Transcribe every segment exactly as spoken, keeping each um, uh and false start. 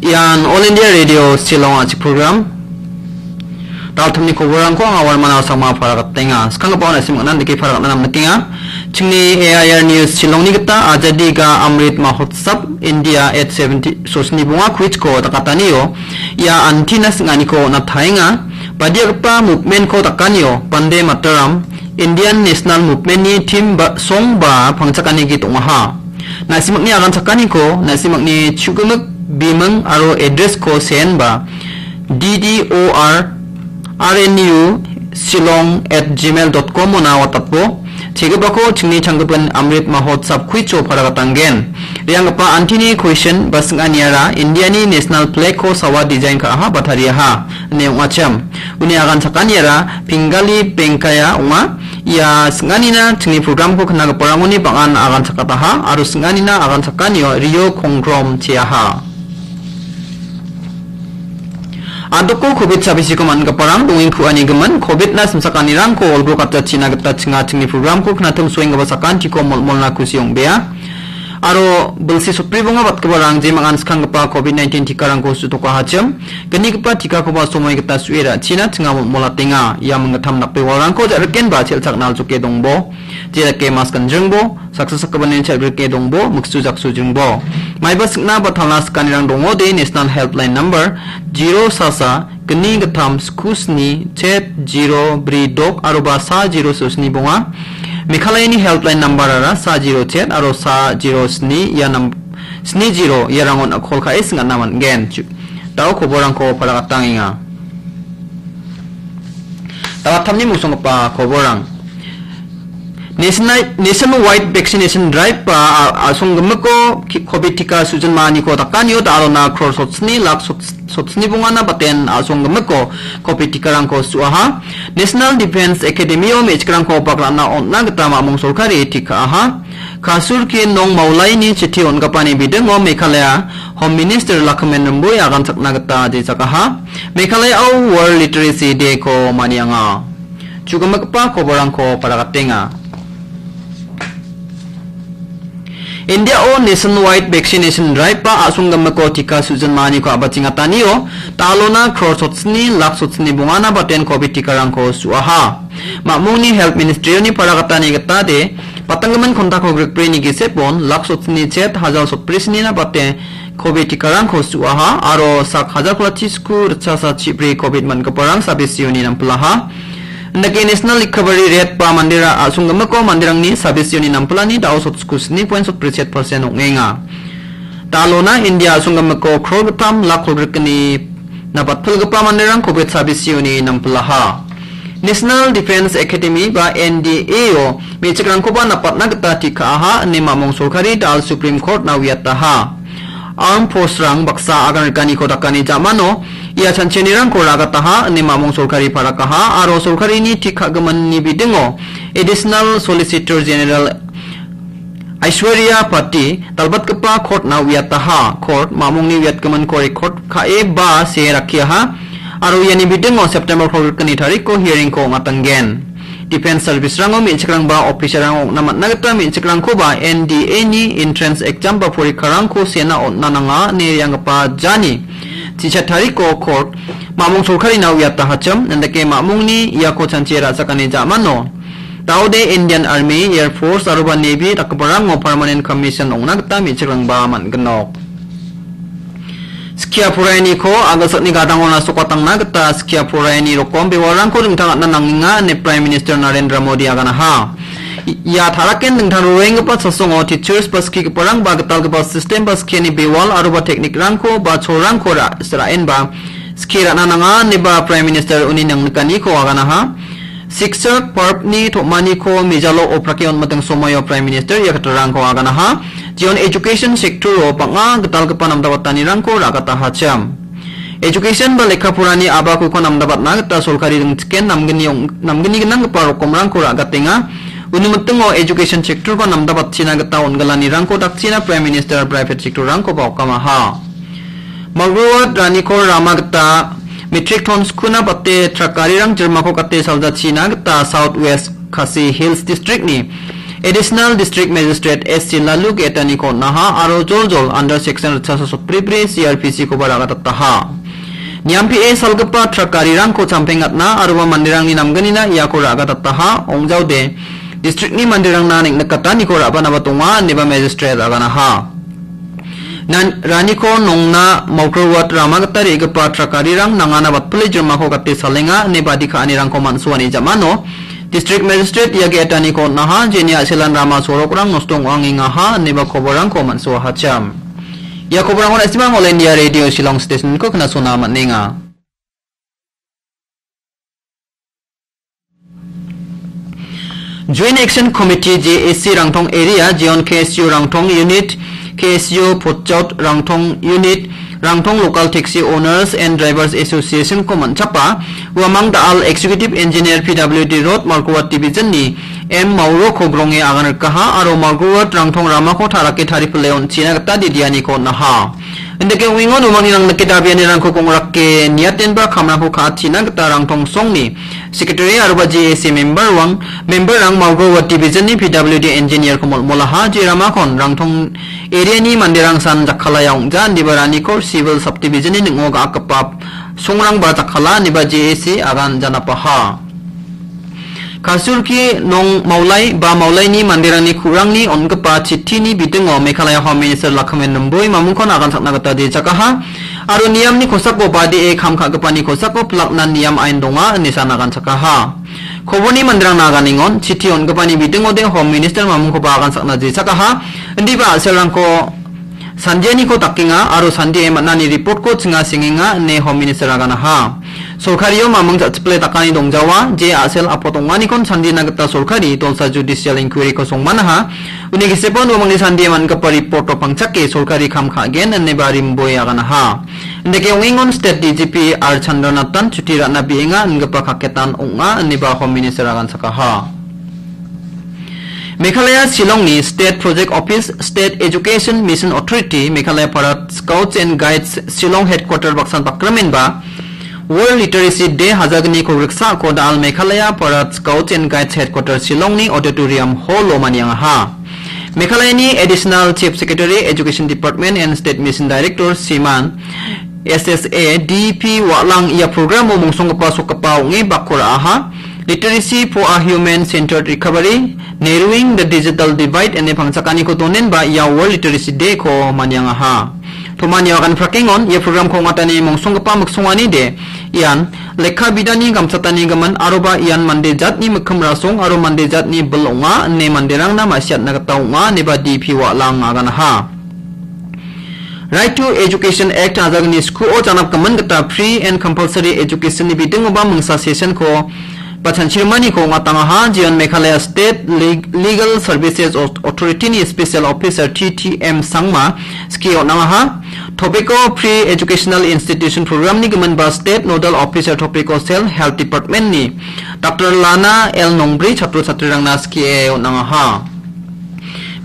Ian All India Radio Shillong a·chik program. Daltamni koborrangko anga Warman Asama paragatenga. Skanggipa on·a sim·gnan dake paragana namnikenga. Chingni A I R News Shillongni gita Azadi Ka Amrit Mahotsav India at seventy sosni bonga quiz-ko dakatanio ia antina sing·aniko on·a taenga. Badiagipa movement-ko dakanio Bande Mataram, Indian National Movement-ni theme ba song ba pangchakani git ong·aha. Na·simangni aganchakaniko, na·simangni chugimik biming aro address-ko senba D D O R R N U Shillong at gmail dot com ona watatbo. Chegipako chingni changgipin Amrit Mahotsav quiz-o paragatanggen. Rianggipa antini question ba sing·aniara India-ni national flag-ko sawa design ka·aha ba tariaha ine ong·achim. Uni aganchakaniara Pingali Bengkaya ong·a. Ia sing·anina chingni program-ko knagiparangoni bang·an aganchakataha aro sing·anina aganchakanio Rio Kongkrom cheaha. Adoko covid sabisiko man·giparang dongengku anigimin covid-na simsakanirangko olgro katjachina gita chinga chingni program-ko knatim soenggipa sakantiko molmolna kusi ong·bea. Aro bilsi sotbribonga batgiparang jemangan skanggipa covid nineteen tikarangko su·tokahachim, gnigipa tikakoba somoi gita su·e ra·china chinga molmolatenga. Ia minggittam dakbewalrangko ja·rikenba chel·chakna aljoke dongbo. Jedake mas ganjringbo, saksa sakgipani chel·grike dongbo, miksu jaksu jringbo. Maiba sing·na ba talna sikanirang dongode National Helpline number zero sasa gni gittam sku sni chet zero bri dok aroba sa zero sosni bonga. Meghalayani helpline number-ara sa zero chet aro sa zero sni ia nam-, sni zero iarangon a·kol ka·e sing·atna man·gen. Ju-, dao koborrangko paragatangenga. Dagattamni mosonggipa koborrang. National-, Nationwide Vaccination Drive ba a-, a·songgimiko ki-, covid tika sujinmaaniko dakanio dalona crore sotsni lak sots-, sotsni bongana baten a·songgimiko covid tikarangko su·aha. National Defence Academy-o me·chikrangko bagrana on·na gita mamung sorkari tikaha. Kasurki nong maulaini chiti on·gipani bidingo Meghalaya Home Minister Lakhamen Rimbui aganchakna gita jejakaha. Meghalaya-o World Literacy Day-ko manianga. Chugimikgipa koborrangko paragatenga. India-o Nationwide Vaccination Drive ba a·songgimiko tika sujinmaaniko a·bachengatanio dalona crore sotsni lak sotsni bongana baten covid tikarangko su·aha. Mamungni Health Ministry-oni paragatani gitade, patanggimin kontako grikbrini gisepon lak sotsni chet hajal sotbrisnina bate covid tikarangko su·aha aro sak hajal platisku ritchasa chibri covid man·giparang sabisioni nampilaha. Indake National Recovery Rate ba mandera a·songgimiko manderangni sabisioni nampilani dao sotsku sni point sotbri chet percent ong·enga. Dalona India a·songgimiko crore gittam lak kolgrikgni nabatpilgipa manderang covid sabisioni nampilaha. National Defence Academy ba N D A-o me·chikrangkoba napatna gita tikaha ine mamung sorkari dal Supreme Court-na uiataha. Armed Force-rang baksa agan rikaniko dakani jamano ia chanchinirangko ragataha ine mamung sorkari parakaha aro sorkarini tik ka·giminni bidingo Additional Solicitor General Aishwarya Patti, dalbatgipa court-na uiataha. Court mamungni uiatgiminko record ka·e ba see rakkiaha, aro iani bidingo September kolgrikgni tariko hearing-ko ong·atanggen. Defence service-rango me·chikrangba officer-rang ong·na man·a gita me·chikrangkoba N D A-ni entrance exam ba porikarangko sena on·na nanga ine re·anggipa jani chicha tariko court mamung sorkarina uiatahachim, indake mamungni iako chanchi ra·chakani jamano Daode Indian Army, Air Force aroba Navy dakgiparango Permanent Commission ong·na gita me·chikrangba man·ginok. Skia poraianiko a·gilsakni gadangona sokatangna gita skia poraiani rokom bewalrangko ringtangatna nangenga ine Prime Minister Narendra Modi aganaha. I-, ia taraken dingtang roenggipa chasongo teachers ba skigiparang ba gitalgipa system ba skiani bewal aroba teknikrangko ba cholrangko ra-, ra·enba skie ra·na nanga ineba Prime Minister uni nangnikaniko aganaha. Siksak parp-ni tom·aniko mejalo oprake on·miting somoio Prime Minister ia katarangko aganaha. Jeon education sector-o bang·a gitalgipa namdabatanirangko ra·gatahachim. Education ba lekka porani abakuko namdabatna gita sorkari ringchiken namgni ong-, namgni gnanggipa rokomrangko ra·gatenga. Uni mitingo education sector-ko namdabatchina gita on·gilanirangko dakchina Prime Minister private sector-rangkoba okamaha. Malruat Ranikor rama gita metrik ton skuna bate trak garirang jirmako gate saljachina gita South West Khasi Hills District-ni Additional District Magistrate S C Lalu ge·etaniko on·aha aro joljol under section ritchasa sotbribri C R P C koba ra·gadataha. Niampie salgipa trak garirangko champengatna aroba manderangni namgnina iako ra·gadataha, ong·jaode districtni manderangna neng·nikataniko ra·banaba donga, ineba magistrate aganaha. Nan-, Raniko nongna Mawgro Ward rama gita re·gipa trak garirang nangana batpile jirmako gate salenga ine badi ka·anirangko man·suani jamano District Magistrate ia ge·etaniko on·aha, jeni a·selan rama sorokrang nosto ong·angengaha ineba koborangko man·suahachim. Ia koborangko na·simang All India Radio Shillong Station-ko knasona man·enga. Joint Action Committee, J A C, Rangtong Area, Zion K S U Rangtong Unit, K S U Potchaut Rangtong Unit, Rangtong Local Taxi Owners and Drivers Association-ko man·chapa, uamang da·al Executive Engineer P W D Road Mawgro Ward Division-ni M Mauro-ko gronge agan rikaha aro Mawgro Ward Rangtong ramako tarake taripile on·china gita didianiko on·aha. Indake ong·engon uamangni nang dake dabianirangko gongrake niatenba kamrangko ka·achina gita Rangtong songni Secretary aroba J A C member-rang, member-rang Mawgro Ward Division-ni P W D engineer-ko molmolaha, je ramakon Rangtong area-ni manderang san jakkalaya ong·ja, indiba Ranikor Civil Subdivision-ni ning·o ga·akgipa songrangba jakkala, indiba J A C agan janapaha. Kasurki nong Maulai ba Maulaini manderangni ku·rangni on·gipa chitini bidingo Meghalaya Home Minister Lakhamen Rimboi mamungkon agan sakna gita jechakaha aro niamni kosako badee kam ka·gipani kosako pilakna niam ain donga ine san agan sakaha. Koborni manderangna aganengon chiti on·gipani bidingode Home Minister mamungkoba agan sakna jechakaha, indiba a·selrangko sandianiko dakenga aro sandie man·ani report-ko chinga sengenga ine Home Minister aganaha. Sorkario mamung ja·chiple dakani dongjawa, je a·sel apot ong·anikon sandina gita sorkari dolsa judicial inquiry-ko songmanaha. Uni gisepon uamangni sandie man·gipa report-o pangchake sorkari kam ka·gen ineba Rimboi aganaha. Indake ong·engon State D G P R Chandranathan chuti ra·na bi·enga ingipa kaketan ong·a ineba Home Minister agan sakaha. Meghalaya Shillongni State Project Office, State Education Mission Authority, Meghalaya Parade Scouts and Guides Shillong Headquarter baksan bakramenba World Literacy Day hajalgni kogriksa ko da·al Meghalaya Parade Scouts and Guides Headquarter Shillongni Auditorium Hall-o maniangaha. Meghalayani Additional Chief Secretary, Education Department and State Mission Director, Shriman S S A D P Walang ia programo mongsonggipa sokgipa ong·e bakko ra·aha. Literacy for a Human Centered Recovery, Narrowing the Digital Divide ine pangchakaniko donenba ia World Literacy Day-ko maniangaha. Tomani agan prakengon ia programko ong·atani mongsonggipa miksonganide ian lekka bidani gamchatani gimin aroba ian mande jatni mikkim rasong aro mande jatni bil ong·a ine manderangna ma·siatna gita ong·a ineba D P Walang aganaha. Right to Education Act hajalgni skuo janapgimin gita Free and Compulsory Education-ni bidingoba mingsa session-ko ba chanchimaniko ong·atangaha, jeon Meghalaya State Leg-, Legal Services Au-, Authority-ni Special Officer T T M Sangma skie on·angaha. Topic-o Pre-Educational Institution Program-ni gimin ba State Nodal Officer topic-o Cell Health Department-ni Doctor Lana L Nongbri chatro chatrirangna skie on·angaha.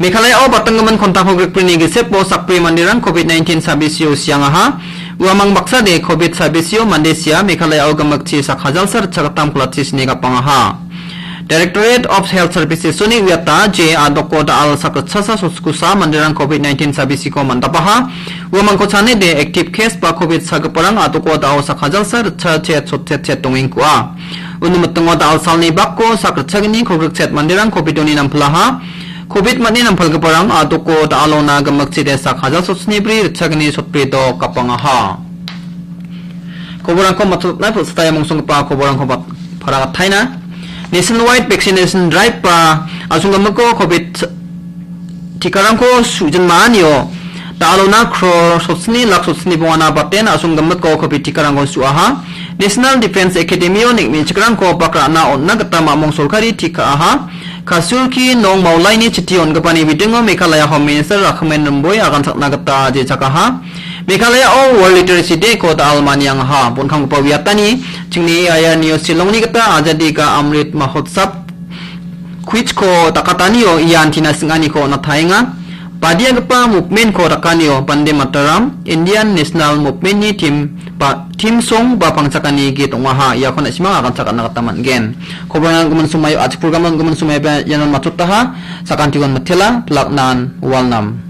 Meghalaya-o batanggimin kontak hogrikbrini gisepo sakbri manderang covid nineteen sabisio siangaha. Uamang baksade covid sabisio mande sia Meghalaya-o gimikchi sak hajalsa ritchagittam kolati sini gapangaha. Directorate of Health Services-oni uiata je a·doko da·al sak ritchasa sotkusa manderang covid nineteen sabisiko mandapaha. Uamangko chanede active case ba covid sagiparang a·doko da·o sak hajalsa ritchachet sotchetchet dongengkua. Uni mitingo da·al salni bako sak ritchagni kolgrikchet manderang covid-oni nampilaha. Covid man·e nampalgiparang a·doko da·alona gimikchide sak hajal sotni bri ritchagni sotbri dok gapangaha. Koborangko matchotna pil·sitaia mongsonggipa koborangko bat-, paragataina. Nationwide vaccination drive ba asonggimiko covid tikarangko su-, jinmaanio da·alona crore sotni lak sotni bongana baten asonggimiko covid tikarangko su·aha. National Defence Academy-o neng·nichikrangko bak ra·na on·na gita mamung sorkari tika·aha. Kasulki nong Maulaini chiti on·gipani bidingo Meghalaya Home Minister Rakhamen Rimboi agan sakna gita jechakaha. Meghalaya-o World Literacy Day-ko da·al maniangaha. Bon·kamgipa uiatani chingni A I R News Shillongni gita Azadi Ka Amrit Mahotsav quiz-ko dakatanio ian tina sing·aniko on·ataenga. Badiagipa movement-ko dakanio Bande Mataram, Indian National Movement-ni team ba-, theme song ba pangchakani git ong·aha, iako na·simang aganchakatna gita man·gen. Kobarangan gimin somaio, a·chik programan gimin somaio ba ianon matchotaha, sakantikon mitela, pilak nan, walnam.